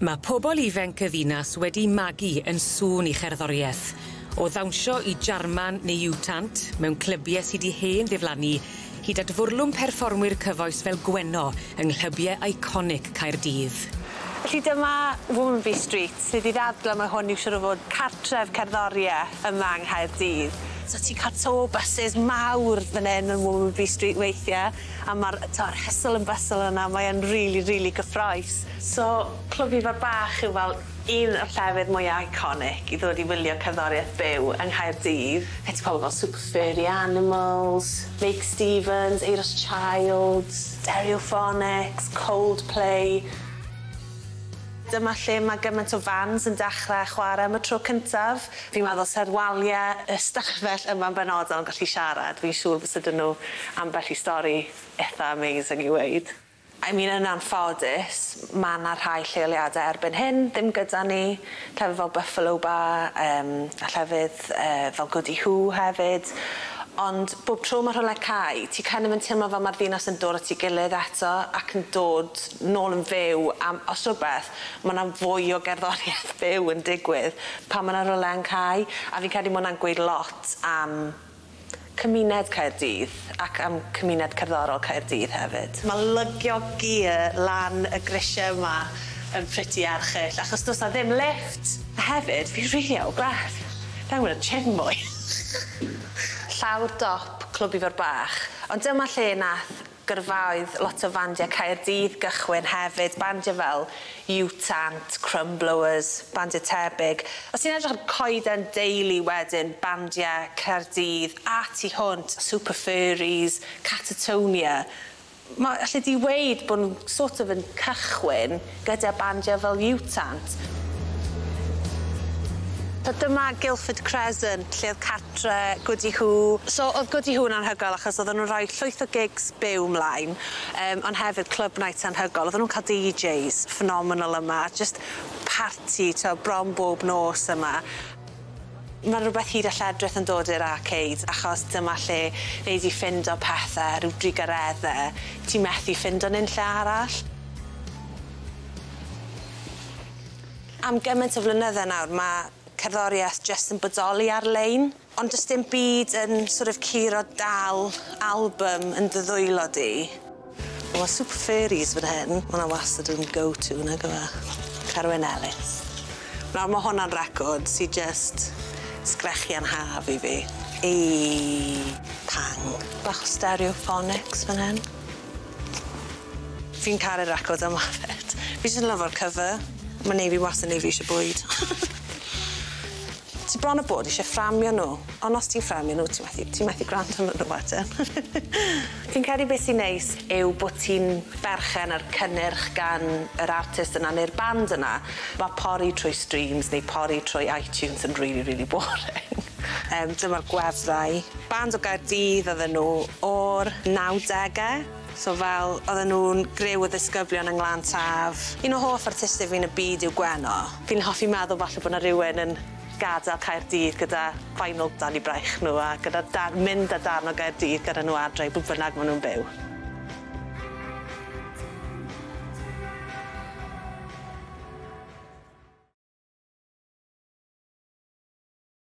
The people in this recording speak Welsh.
Ma' pobol ifenc y ddinas wedi magu yn sŵn 'i cherddorieth o ddawnsio i Jarman neu U Tant mewn clybie sy 'di hen ddiflannu hyd at fwrlwm perfformwyr cyfoes fel Gwenno yng nghlybie eiconic Caerdydd. Felly dyma Womanby Street sydd i ddadle ma' hwn yw siŵr o fod cartref cerddorieth yma yng Nghaerdydd. So ti'n ca'l tour buses mawr fyn 'yn yn Womanby Street weithie a ma'r t'o'r hustle and bustle yna mae yn rili rili gyffrous. So Clwb Ifor Bach yw fel un o'r llefydd mwya iconic i ddod i wylio cerddorieth byw yng Nghaerdydd. Gen ti pobol fel Super Furry Animals, Meic Stevens, Euros Childs, Stereophonics, Coldplay. Dyma lle ma' gymaint o fans yn dechre chware am y tro cyntaf. Fi'n meddwl sa'r walie y stafell yma'n benodol yn gallu siarad fi'n siŵr fysa 'dyn nw ambell i stori itha amazing i weud. I mean yn anffodus ma' 'na rhai lleoliade erbyn hyn ddim gyda ni llefydd fel Buffalo Bar yym a llefydd yy fel Gwdihŵ hefyd ond bob tro ma' rhywle cau ti kind of yn timlo fel ma'r ddinas yn dod at 'i gilydd eto ac yn dod nôl yn fyw am os rwbeth ma' 'na fwy o gerddorieth byw yn digwydd pan ma' 'na rywle yn cau a fi'n credu ma' wnna'n gweud lot am cymuned Caerdydd ac am cymuned cerddorol Caerdydd hefyd. Ma' lygio gear lan y grisie yma yn pretty erchyll achos do's 'na ddim lifft. A hefyd fi rili out o breath. Fi angen mynd i'r gym mwy. Llawr dop Clwb Ifor Bach ond dyma lle nath gyrfaoedd lot o fandie Caerdydd gychwyn hefyd bandie fel U Tant, Crumblowers, bandie tebyg. Os ti'n edrych ar Coeden Daly wedyn bandie Caerdydd a tu hwnt, Super Furries, Catatonia ma' alle di weud bo' nw sort of yn cychwyn gyda bandie fel U Tant. So dyma Guildford Crescent lle o'dd cartre Gwdihŵ. So o'dd Gwdihŵ yn anhygoel achos odden nw'n rhoi llwyth o gigs byw mlaen yym on' hefyd club nights anhygol odden nw'n ca'l Dee Jays phenomenal yma a jyst parti t'o' bron bob nos yma. Ma' rwbeth hyd a lledrith yn dod i'r arcade achos dyma lle nei di ffindo pethe ryw drugaredde ti methu ffindo nunlle arall. Am gyment o flynydde nawr ma' cerddorieth jyst yn bodoli ar-lein ond do's dim byd yn sort of curo dal album yn dy ddwylo di. Wel ma' Super Furries fan hyn, ma' wnna wastad yn go to nag yw e? Carwyn Ellis. Nawr ma' hwnna'n record sy jyst sgrechian haf i fi. Ei pang. Bach o Stereophonics fan hyn. Fi'n caru'r record yma 'fyd. Fi jyst yn lyfo'r cover. Ma'n neu' fi wastad neu' fi isie bwyd. Ti bron a bod isie fframio nw, on' os ti'n fframio nw ti methu ti methu gwrando arnyn nw wedyn. Fi'n credu beth sy'n neis yw bo' ti'n berchen ar cynnyrch gan yr artist yna ne'r band yna. Ma' pori trwy streams neu pori trwy iTunes yn rili rili boring. Dyma'r gwefrau. Band o Gaerdydd oedden nw o'r nawdege. So fel oedden nw'n griw o ddisgyblion yng Nglan Taf. Un o hoff artistiaid fi yn y byd yw Gwenno. Fi'n hoffi meddwl falle bo' 'na rywun yn gad'el Caerdydd gyda vinyl dan 'u braich nw a gyda dar- mynd â darn o Gaerdydd gyda nw adre i bw bynnag ma' nw'n byw.